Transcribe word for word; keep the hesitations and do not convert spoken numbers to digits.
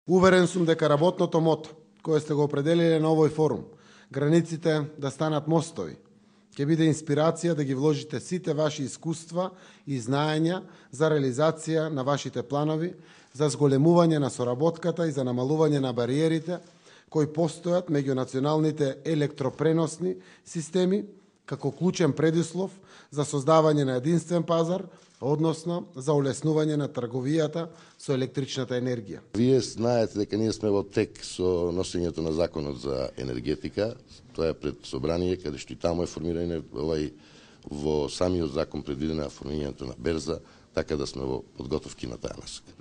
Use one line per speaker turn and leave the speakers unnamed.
Уверен сум дека работното мото, кое сте го определиле на овој форум, границите да станат мостови, ќе биде инспирација да ги вложите сите ваши искуства и знаења за реализација на вашите планови, за зголемување на соработката и за намалување на бариерите кои постојат меѓу националните електропреносни системи, како клучен предуслов за создавање на единствен пазар, односно за улеснување на трговијата со електричната енергија.
Вие знаете дека ние сме во тек со носењето на законот за енергетика. Тоа е пред собрание, каде што и таму е формирање овај во самиот закон предвидена формирањето на берза, така да сме во подготовки на таа насока.